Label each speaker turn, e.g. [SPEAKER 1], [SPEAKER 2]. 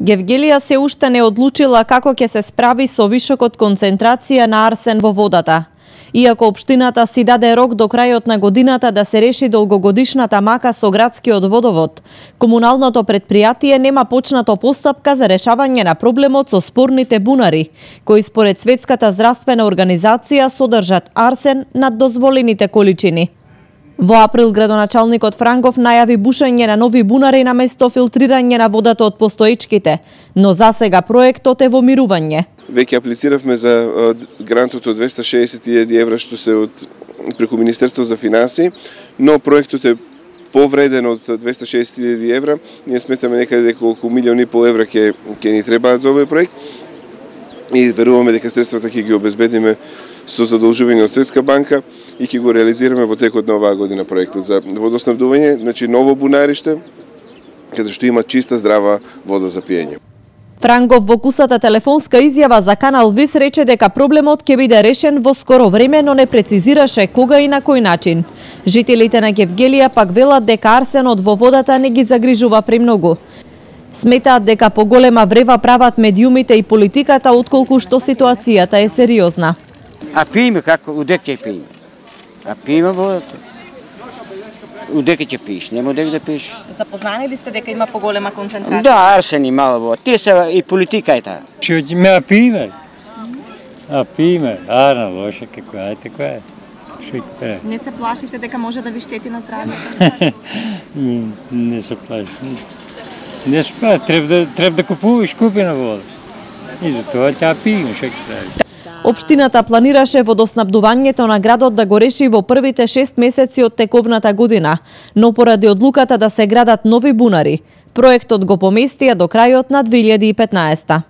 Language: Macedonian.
[SPEAKER 1] Гевгелија се уште не одлучила како ќе се справи со вишокот концентрација на арсен во водата. Иако општината си даде рок до крајот на годината да се реши долгогодишната мака со градскиот водовод, комуналното предпријатие нема почнато постапка за решавање на проблемот со спорните бунари, кои според Светската здравствена организација содржат арсен над дозволените количини. Во април градоначалникот Франгов најави бушење на нови бунари наместо филтрирање на водата од постоечките, но засега проектот е во мирување.
[SPEAKER 2] Веќе аплициравме за грантот од 260.000 евра што се од преку Министерство за финансии, но проектот е повреден од 260.000 евра. Ние сметаме некаде дека околу 1,5 милиони евра ќе ни требаат за овој проект и веруваме дека средствата ќе ги обезбедиме со задолжување од Светска банка и ќе го реализираме во текот на оваа година проектот за водоснабдување, значи ново бунариште каде што има чиста здрава вода за пиење.
[SPEAKER 1] Франгов во кусата телефонска изјава за Канал Вис рече дека проблемот ќе биде решен во скоро време, но не прецизираше кога и на кој начин. Жителите на Гевгелија пак велат дека арсенот во водата не ги загрижува премногу. Сметаат дека поголема врева прават медиумите и политиката отколку што ситуацијата е сериозна.
[SPEAKER 3] А пиеме како, удека ќе пиеме? А пиеме водата. Удека ќе пиеш, нема удека да пиеш.
[SPEAKER 1] Запознани ли сте дека има поголема концентрација?
[SPEAKER 3] Да, арсен и мало вода. Тие се и политика е таа.
[SPEAKER 4] Што ќе ме пиеме? А пиеме, арна лоша како е, така е.
[SPEAKER 1] Не се плашите дека може да ви штети на здравјето?
[SPEAKER 4] Не се плаши. Не се плаши, треба да купуваш купена вода. И затоа ќе пиеме, што ќе прави.
[SPEAKER 1] Општината планираше водоснабдувањето на градот да го реши во првите 6 месеци од тековната година, но поради одлуката да се градат нови бунари, проектот го поместија до крајот на 2015.